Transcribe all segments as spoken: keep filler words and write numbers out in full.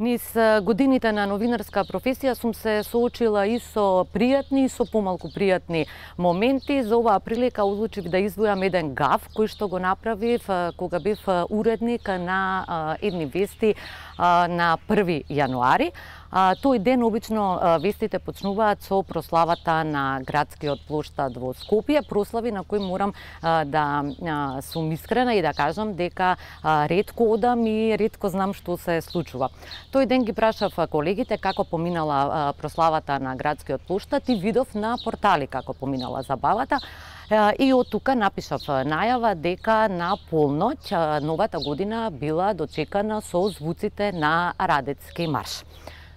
Низ годините на новинарска професија сум се соочила и со пријатни и со помалку пријатни моменти. За оваа прилика одлучив да издвојам еден гаф кој што го направив кога бев уредник на едни вести на први јануари. Тој ден обично вестите почнуваат со прославата на градскиот плоштад во Скопје, прослави на кои морам да сум искрена и да кажам дека ретко одам и ретко знам што се случува. Тој ден ги прашав колегите како поминала прославата на градскиот плоштад и видов на портали како поминала забавата. И од тука напишав најава дека на полноќ новата година била дочекана со звуците на Радецки марш.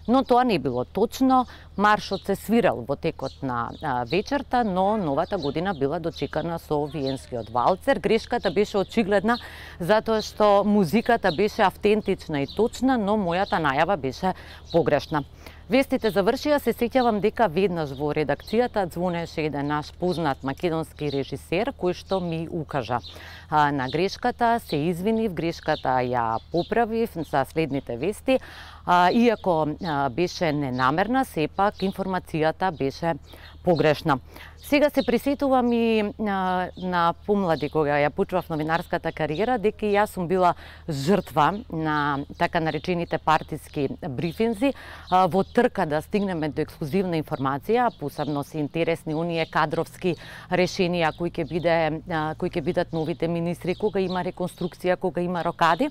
Но тоа не било точно. Маршот се свирал во текот на вечерта, но новата година била дочекана со виенскиот валцер. Грешката беше очигледна затоа што музиката беше автентична и точна, но мојата најава беше погрешна. Вестите завршија, се сеќавам дека веднаш во редакцијата звонеше еден наш познат македонски режисер кој што ми укажа на грешката, се извинив, грешката ја поправив за следните вести. Иако беше ненамерна, сепак информацијата беше погрешна. Сега се присетувам и на, на помлади кога ја почнав новинарската кариера, дека јас сум била жртва на така наречените партиски брифинзи во трка да стигнеме до ексклузивна информација, посебно се интересни оние кадровски решенија кои ќе биде кои ќе бидат новите министри, кога има реконструкција, кога има рокади.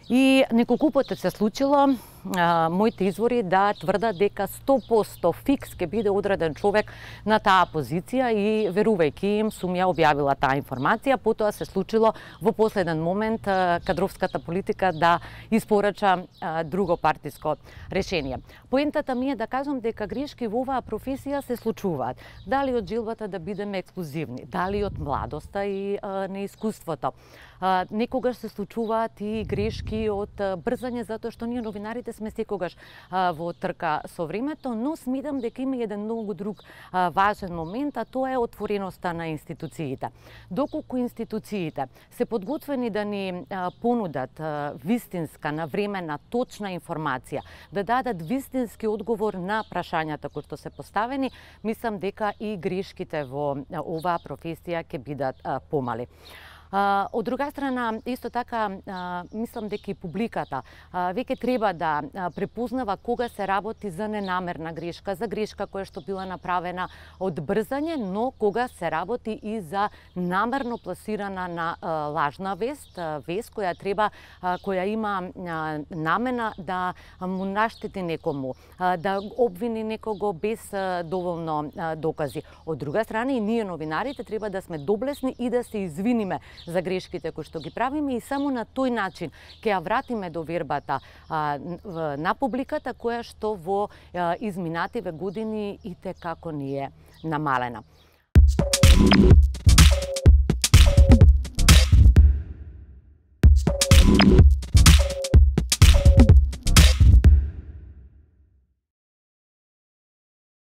И неколку пати се случило а, моите извори да тврдат дека сто проценти фикс ќе биде одреден човек на таа позиција и верувајќи им сум ја објавила таа информација. Потоа се случило во последен момент а, кадровската политика да испорача а, друго партиско решение. Поентата ми е да кажам дека грешки во оваа професија се случуваат. Дали од жилбата да бидеме ексклузивни, дали од младоста и а, неискуството. А, некогаш се случуваат и грешки од брзање, затоа што ние новинарите сме секогаш а, во трка со времето, но смитам дека има еден многу друг а, важен момент, а тоа е отвореноста на институциите. Доколку институциите се подготвени да ни а, понудат а, вистинска, навремена, точна информација, да дадат вистински одговор на прашањата кои што се поставени, мислам дека и грешките во а, оваа професија ќе бидат а, помали. Uh, од друга страна, исто така, uh, мислам дека и публиката uh, веќе треба да uh, препознава кога се работи за ненамерна грешка, за грешка која што била направена од брзање, но кога се работи и за намерно пласирана на uh, лажна вест, uh, вест која треба, uh, која има uh, намена да му наштети некому, uh, да обвини некого без uh, доволно uh, докази. Од друга страна, и ние новинарите треба да сме доблесни и да се извиниме за грешките кои што ги правиме и само на тој начин ќе ја вратиме довербата а, на публиката која што во а, изминативе години и те како ни е намалена.